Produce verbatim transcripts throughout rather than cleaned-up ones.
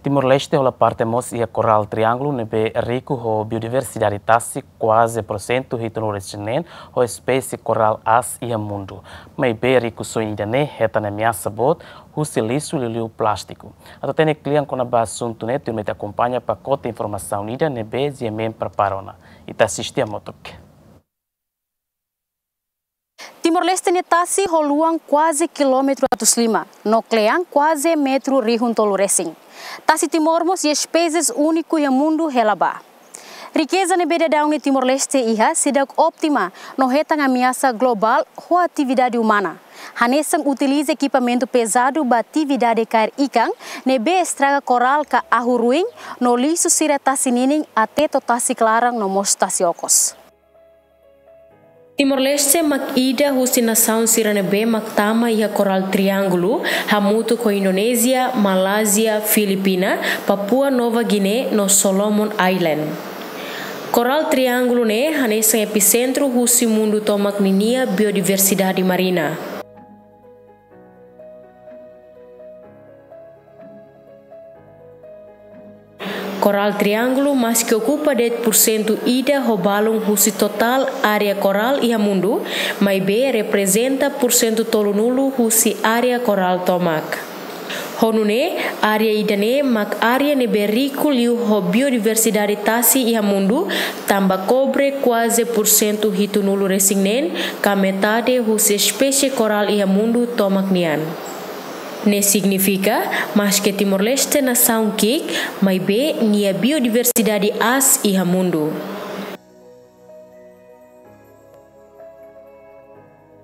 Timor-Leste hola parte mós iha Korál Triángulu ne'ebé riku ho biodiversidade tasi kuaze porsentu hitunulu-resin-neen ho espésie korál aas iha mundu. Maibé rikusoin ida-ne'e hetan ameasa boot husi lixu liuliu plástiku. Atu hatene kle'an kona-ba asuntu ne'e, tuirmai ita akompaña pakote informasaun ida ne'ebé GMN prepara ona. Ita asiste hamutuk. Timor-Leste nia tasi ho luan kuaze kilómetru atus lima, no kle'an kuaze metru rihun tolu resin. Tasi Timor mós iha espésies úniku iha mundu hela ba. Rikeza ne'ebé daudaun ne'e Timor-Leste iha seidauk ótima, no hetan ameasa globál ho atividade umana. Hanesan utiliza ekipamentu pezadu ba atividade kaer ikan, ne'ebé estraga korál ka ahu ruin, no lixu sira tasi ninin até to'o tasi klaran no mós tasi okos. Timor-Leste mak ida husi nasaun sira ne'ebé mak tama iha Korál Triángulu, hamutuk ho Indonézia, Malázia, Filipina, Papua Nova Guiné no Solomon Island. Korál Triángulu ne'e hanesan episentru husi mundu tomak ninia biodiversidade marina. Korál Triángulu maski okupa de'it porsentu ida ho balun husi totál área korál iha mundu, maibé reprezenta porsentu tolunulu husi área korál tomak. Ho nune'e, área ida-ne'e mak área ne'ebé riku liu ho biodiversidade tasi iha mundu, tanba kobre kuaze porsentu hitunulu-resin-neen, ka metade husi espésie korál iha mundu tomak nian. Ne'e signifika, maski Timor-Leste nasaun ki'ik, maibé nia biodiversidade aas iha mundu.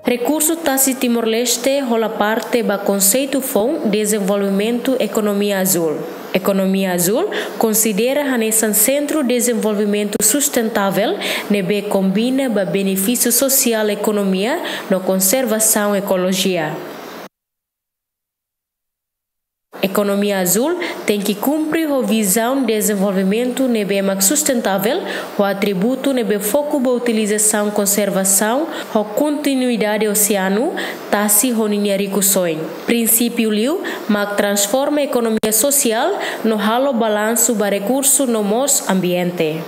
Rekursu tasi Timor-Leste hola parte ba konseitu foun dezenvolvimentu ekonomia azúl. Ekonomia azúl konsidera hanesan sentru dezenvolvimentu sustentável ne'ebé kombina ba benefísiu sosiál ekonomia no konservasaun ekolojia. Ekonomia azúl tenke kumpre ho vizaun dezenvolvimentu ne'ebé mak sustentável, ho atributu ne'ebé foku ba utilizasaun konservasaun ho kontinuidade oseanu, tasi ho ninia rikusoin. Prinsípiu liu mak transforma ekonomia sosiál no halo balansu ba rekursu no mós ambiente.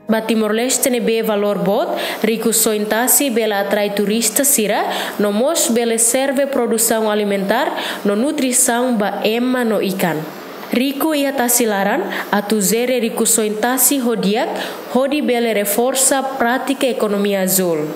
Ba Timor-Leste ne'ebé valór boot, rikusoin tasi bele atrai turista sira, no mós bele serve produsaun alimentár no nutrisaun ba ema no ikan. Riku iha tasi laran, atu jere rikusoin tasi ho di'ak, hodi bele reforsa prátika ekonomia azúl.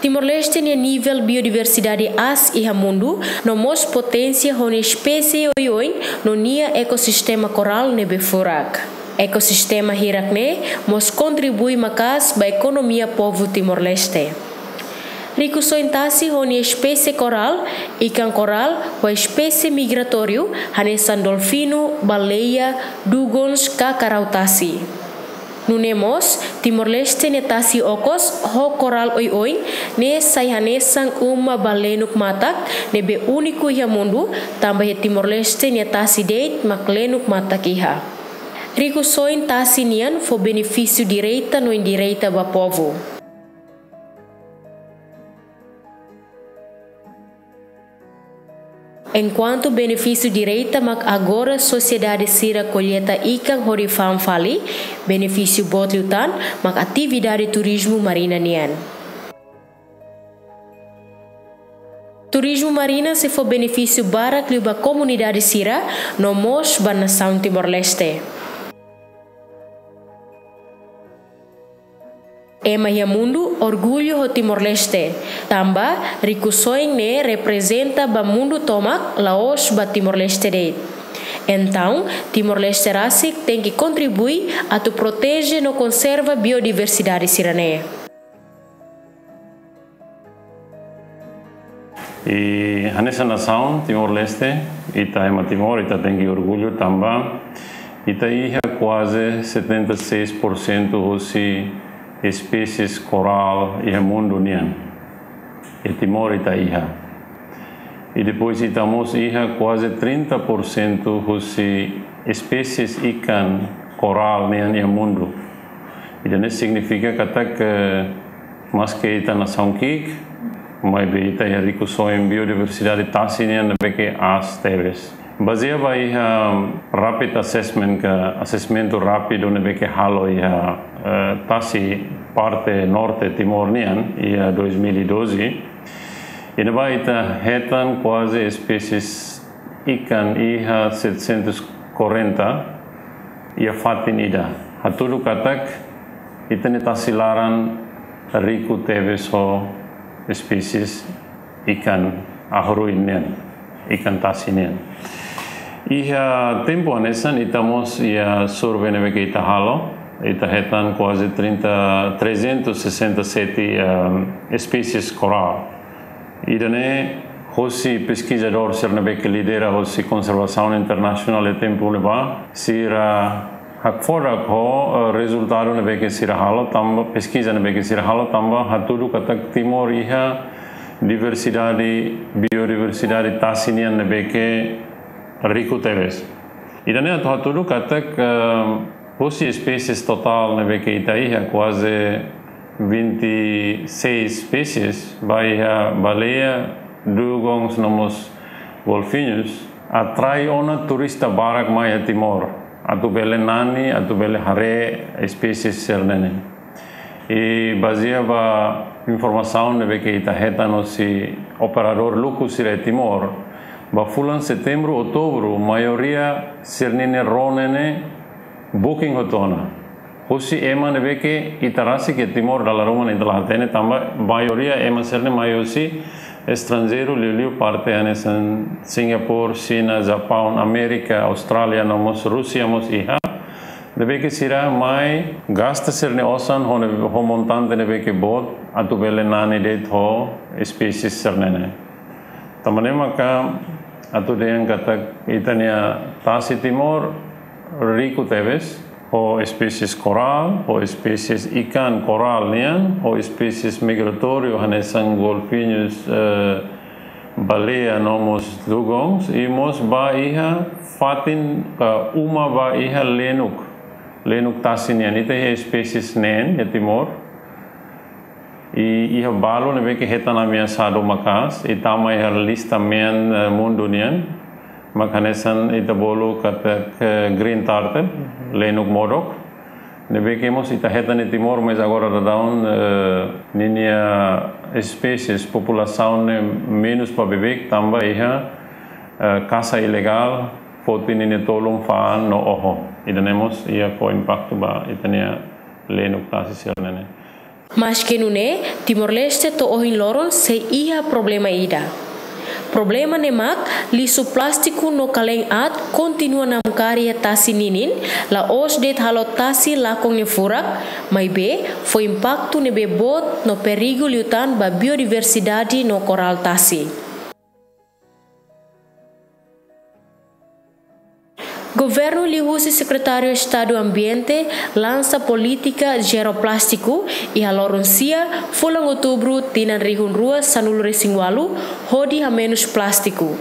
Timor-Leste nia nivel biodiversidade aas iha mundu, no mós poténsia ho nia espésie oioin no nia ekosistema korál ne'ebé furak. Ekosistema hirak-ne'e mós kontribui maka'as ba ekonomia povu Timor-Leste. Rikusoin tasi ho nia espésie korál, ikan korál, ho espésie migratóriu, hanesan dolfinu, baleia, dugons, ka karau tasi. Nune'e mós, Timor-Leste nia tasi okos ho korál oioin ne'e sai hanesan uma ba lenuk matak ne'ebé úniku iha mundu, tanba iha Timor-Leste nia tasi de'it mak lenuk matak iha. Rikusoin tasi nian fó benefísiu direta no indireta ba povu. Enkuantu benefísiu direta mak agora sosiedade sira kolleta ikan hodi fa'an fali, benefísiu boot liután mak atividade turizmu marina nian. Turizmu marina sei fó benefísiu barak liu ba komunidade sira, no mós ba nasaun Timor-Leste. Ema iha mundu orgullu ho Timor-Leste, tanba rikusoin ne'e reprezenta ba mundu tomak, la'ós ba Timor-Leste de'it. Entaun, Timor-Leste rasik tenke kontribui atu proteje no konserva biodiversidade sira-ne'e. I hanesan nasaun Timor-Leste, ita ema Timor, ita tenke orgullu tanba ita iha kuaze setenta e seis por cento husi espésies korál iha mundu nian. Iha Timor ita iha. I depois ita mós iha kuaze trinta por cento husi espésies ikan korál nian iha mundu. Ida-ne'e signifika katak, eh, maske ita nasaun ki'ik, maibé ita iha rikusoin biodiversidade tasi nian ne'ebé ke aas tebes. Bazeia ba iha rapid assessment ka assessment rápidu ne'ebé ke halo iha, eh, tasi parte norte Timor nian iha dois mil e doze, iha ne'ebá ita hetan kuaze espésies ikan iha setecentos e quarenta iha fatin ida. Hatudu katak ita-nia tasi laran riku tebes ho espésies ikan ahu-ruin nian, ikan tasi nian. Iha tempu hanesan ita mós iha survei ne'ebé ke ita halo, ita hetan kuaze trinta, trezentos e sessenta e sete, ehm, espésies korál. Ida-ne'e hosi peskizadór sira ne'ebé ke lidera hosi konservasaun internasionál iha tempu ne'ebá, sira hakfodak ho, eh, rezultadu ne'ebé ke sira halo tanba, peskiza ne'ebé ke sira halo tanba hatudu katak Timor iha diversidade, biodiversidade tasi nian ne'ebé ke riku tebes. Ida-ne'e atu hatudu katak, eh, hosi espésies totál ne'ebé ke ita iha kuaze vinte e seis espésies, ba iha baleia, dugons, no mós golfinhus, atrai ona turista barak mai iha Timor, atu bele nani, atu bele haree espésies sira-ne'e. I bazeia ba informasaun ne'ebé ke ita hetan hosi operadór luku sira iha Timor, ba fulan Setembru, Outubru, maioria sira-nia rone ne'e booking hotu ona. Hosi ema ne'ebé ke ita rasik iha Timor dala ruma ne'e ita la hatene tanba maioria ema sira-ne'e mai hosi estranjeiru, liuliu parte hanesan Singapura, Xina, Japaun, Amérika, Austrália, no mós Rúsia mós iha. Ne'ebé ke sira mai gasta sira-nia osan ho ne'e, ho montante ne'ebé ke boot atu bele nani de'it ho espésies sira-ne'e. Tanba ne'e maka atu dehan katak ita-nia tasi Timor riku tebes, ho espésies korál, ho espésies ikan korál nian, ho espésies migratóriu hanesan golfinhus, eh, baleia no mós dugons, i mós ba iha fatin ka uma ba iha lenuk, lenuk tasi nian. Ita iha espésies neen iha Timor. I iha balu ne'ebé ke hetan ameasadu maka'as, i tama iha lista mean, eh, mundu nian, mak hanesan ita bolu katak green turtle, lenuk modok. Ne'ebé ke mós ita hetan iha Timor, mas agora daudaun, eh, ninia espésies, populasaun ne'e menus ba beibeik, tanba iha, eh, kasa ilegál, foti ninia tolun, fa'an no oho. Ida-ne'e mós iha fó impaktu ba ita-nia lenuk tasi sira-ne'e. Maske nune'e, Timor-Leste to'o ohin loron sei iha problema ida. Problema ne'e mak lixu plástiku no kalen aat kontinua namkari iha tasi ninin, la'ós de'it halo tasi lakon nia furak, maibé fó impaktu ne'ebé boot no perigu liután ba biodiversidade no korál tasi. Governu liuhusi Sekretáriu Estadu Ambiente lansa polítika zero plástiku iha loron sia, fulan Outubru, tinan rihun rua sanulu-resin-ualu, hodi hamenus plástiku.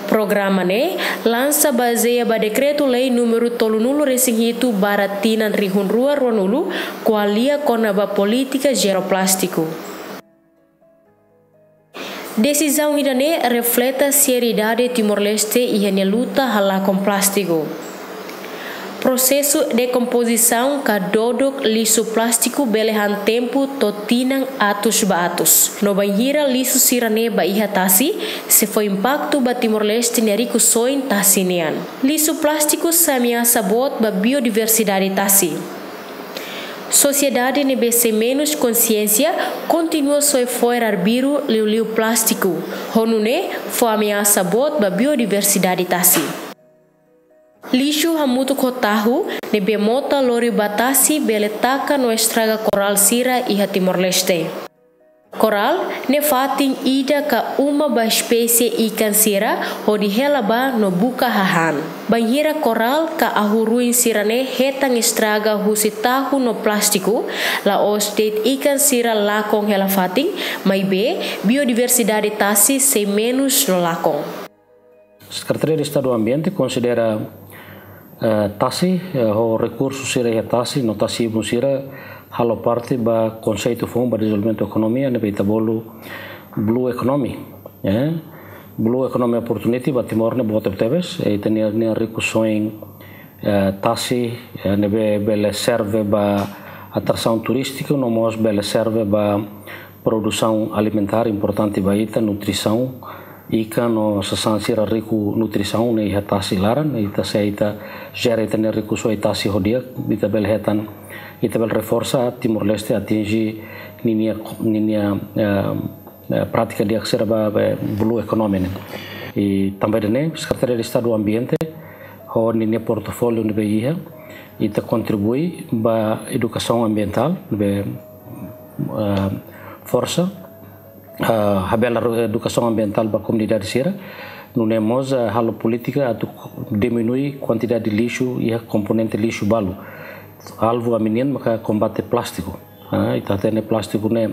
Programa ne'e lansa bazeia ba Dekretu-Lei númeru tolunulu-resin-hitu barra tinan rihun rua ruanulu, ko'alia kona-ba polítika zero plástiku. Desizaun ida-ne'e refleta seriedade Timor-Leste iha nia luta halakon plástiku. Prosesu dekompozisaun ka dodok lixu plástiku bele han tempu to'o tinan atus ba atus. No bainhira lixu sira-ne'e ba iha tasi, sei fó impaktu ba Timor-Leste nia rikusoin tasi nian. Lixu plástiku sai ameasa boot ba biodiversidade tasi. Sosiedade ne'ebé sei menus konsiénsia kontinua soe fo'er arbiru liuliu plástiku, ho nune'e fó ameasa boot ba biodiversidade tasi. Lixu hamutuk ho tahu ne'ebé mota lori ba tasi bele taka no estraga korál sira iha Timor-Leste. Korál ne'e fatin ida ka uma ba espésie ikan sira hodi hela bá no buka hahán. Bainhira korál ka ahu-ruin sira-ne'e hetan estraga husi tahu no plástiku, la'ós de'it ikan sira lakon hela fatin, maibé biodiversidade tasi sei menus no lakon. Sekretaria de Estadu Ambiente konsidera, eh, tasi, eh, ho rekursu sira iha tasi, no tasi-ibun sira, halo parte ba konseitu foun ba dezenvolvimentu ekonomia ne'ebé ita bolu Blue Economy. Blue Economy Opportunity ba Timor ne'e boot tebes, ita-nia rikusoin tasi ne'ebé bele serve ba atrasaun turístiku, no mós bele serve ba produsaun alimentár importante ba ita, nutrisaun, ikan no sasán sira riku nutrisaun ne'e iha tasi laran, ita se ita jere ita-nia rikusoin tasi ho di'ak, ita bele hetan, ita bele reforsa Timor-Leste atinje ninia, ninia prátika di'ak sira ba Blue Economy ne'e. I tanba ida-ne'e Sekretaria Estadu Ambiente ho ninia portfóliu ne'ebé iha, ita kontribui ba edukasaun ambientál ne'ebé forsa habelar edukasaun ambientál ba komunidade sira, nune'e mós halo polítika atu diminui kuantidade lixu iha komponente lixu balu. Alvu ami-nian maka kombate plástiku. Ita hatene plástiku ne'e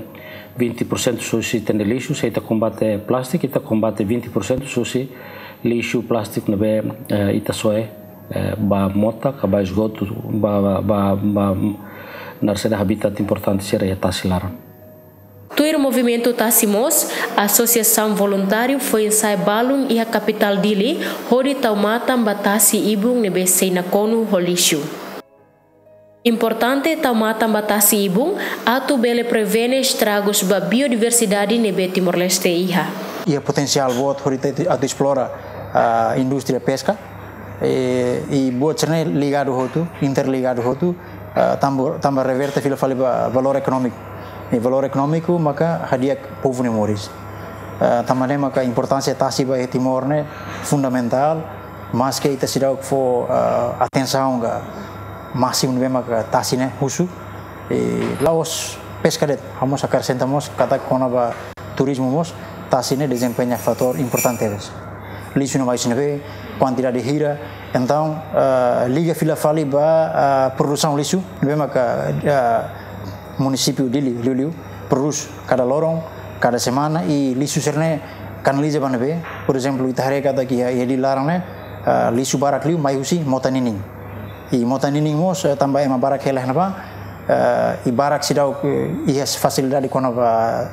vinte por cento husi ita-nia lixu, se ita kombate plástiku, ita kombate vinte por cento husi lixu plástiku ne'ebé ita soe ba mota ka ba esgotu, ba, ba, ba, ba naran saida, habitat importante sira iha tasi laran. Tuir movimentu tasi mós, asosiasaun voluntáriu foin-sa'e balun iha kapitál Dili hodi tau matan ba tasi ibun ne'ebé sei nakonu ho lixu. Importante tau matan ba tasi ibun atu bele prevene estragus ba biodiversidade ne'ebé Timor-Leste iha. Iha potensiál boot hodi ita atu esplora indústria peska i buat sira-ne'e ligadu hotu, interligadu hotu, tanba reverte fila fali ba valór ekonómiku. I valór ekonómiku maka hadi'a povu nia moris. Tanba ne'e maka importánsia tasi ba iha Timor ne'e fundamentál, maske ita seidauk fó atensaun ka másimu ne'ebé maka tasi ne'e husu, la'ós peska de'it, ha'u mós akresenta mós katak kona-ba turizmu mós tasi ne'e dezempeña fatór importante tebes. Lixu ne'e mai husi ne'ebé, kuantidade hira, entaun liga fila fali ba produsaun lixu ne'ebé maka munisípiu Dili liuliu prodús kada loron, kada semana, i lixu sira-ne'e kanaliza ba ne'ebé. Porezemplu, ita haree katak iha Dili laran ne'e lixu barak liu mai husi mota ninin. I mota ninin mós tanba ema barak hela iha ne'ebá, i barak seidauk iha fasilidade kona-ba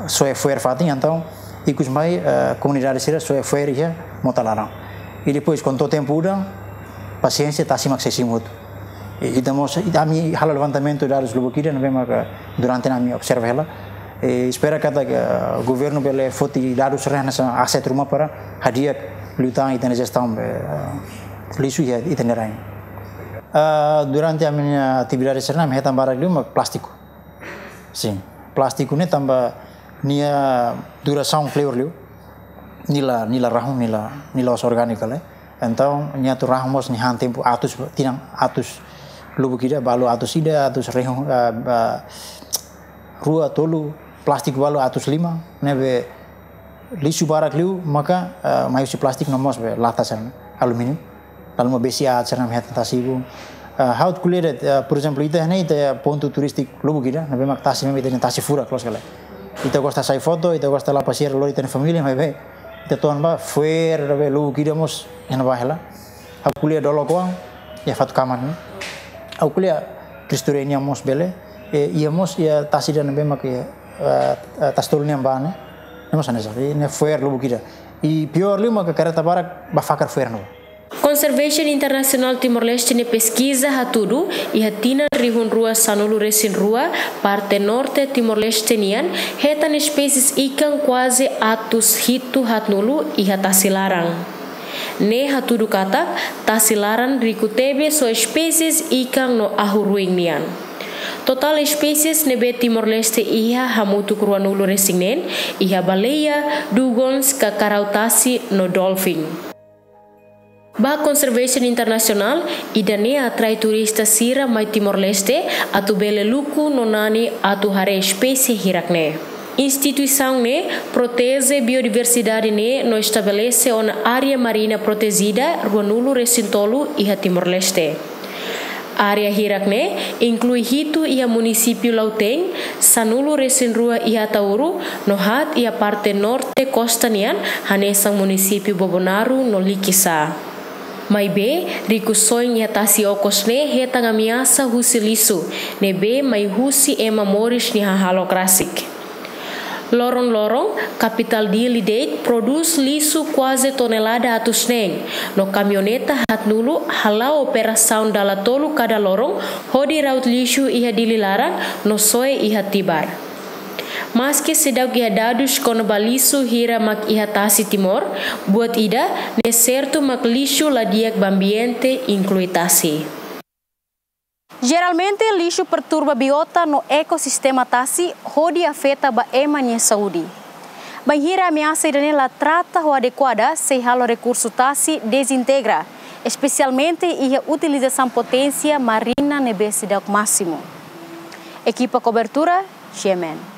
soe fo'er fatin, entaun ikus mai komunidade sira soe fo'er iha mota laran. I depois, kuandu to'o tempu udan, pasiénsia, tasi mak sei simu hotu. Ita mós, ami halo levantamentu dadus lubuk ida ne'ebé maka durante ne'e ami observa hela. Espera katak governu bele foti dadus sira-ne'e hanesan aset ruma para hadi'a liután ita-nia jestaun lixu iha ita-nia rain. Durante ami-nia atividade sira-ne'e ami hetan barak liu mak plástiku. Sin, plástiku ne'e tanba nia durasaun kleur liu, nia la, nia la rahun, nia la, nia la'ós orgániku lai. Entaun nia atu rahun mós nia han tempu atus, tinan atus, lubuk ida balu atus ida, atus rihun, rua, tolu, plástiku balu atus lima, ne'ebé lixu barak liu maka mai husi plástiku no mós be lata sira-ne'e, alumíniu. Lalu mak besik aat sira-ne'e ami hetan tasi ibun. Ha'u ko'alia de'it, porezemplu, ita ne'e ita pontu turístiku lubuk ida ne'ebé mak tasi ne'e ita-nia tasi furak loos ka lae. Ita gosta sai foto, ita gosta la pasiar lori ita-nia família, maibé ita to'o ne'ebá fo'er ne'ebé lubuk ida mós iha ne'ebá hela. Ha'u ko'alia dolok oan, iha Fatukaman ne'e. Ha'u ko'alia Cristo Rei nian mós bele, iha mós iha tasi ida ne'ebé mak iha tasi tolu nian bá ne'e. Ne'e mós hanesan ne'e, fo'er lubuk ida. I piór liu maka kareta barak bá fakar fo'er ne'ebá. Conservation International Timor-Leste nia peskiza hatudu, iha tinan rihun rua sanulu resin rua, parte norte Timor-Leste nian hetan espésies ikan kuaze atus hitu haatnulu iha tasi laran. Ne'e hatudu katak tasi laran riku tebes ho espésies ikan no ahu-ruin nian. Totál espésies ne'ebé Timor-Leste iha hamutuk ruanulu resin neen, iha baleia, dugongs ka karau tasi no dolfin. Ba Conservation International, ida-ne'e atrai turista sira mai Timor-Leste atu bele luku no nani atu haree espésie hirak-ne'e. Instituisaun ne'e proteje biodiversidade ne'e no estabelese ona área marina protejida ruanulu resin tolu iha Timor-Leste. Área hirak-ne'e inklui hitu iha munisípiu Lautein, sanulu resin rua iha Ataúro, no haat iha parte norte kosta nian, hanesan munisípiu Bobonaro no Likisá. Maibé, rikusoin iha tasi okos ne'e hetan ameasa husi lixu, ne'ebé mai husi ema moris nia hahalok rasik. Loron-loron, kapitál Dili de'it prodús lixu kuaze tonelada atus neen, no kamioneta haat-nulu hala'o operasaun dala tolu kada loron hodi ra'ut lixu iha Dili laran no soe iha Tibar. Maski seidauk iha dadus kona-ba lixu hira mak iha tasi Timor, buat ida ne'e sertu mak lixu la di'ak ba ambiente, inklui tasi. Jeralmente, lixu perturba biota no ekosistema tasi hodi afeta ba ema nia saúde. Bainhira ameasa ida-ne'e la trata ho adekuada, sei halo rekursu tasi dezintegra, espesialmente iha utilizasaun poténsia marina ne'ebé seidauk másimu. Ekipa kobertura, G M N.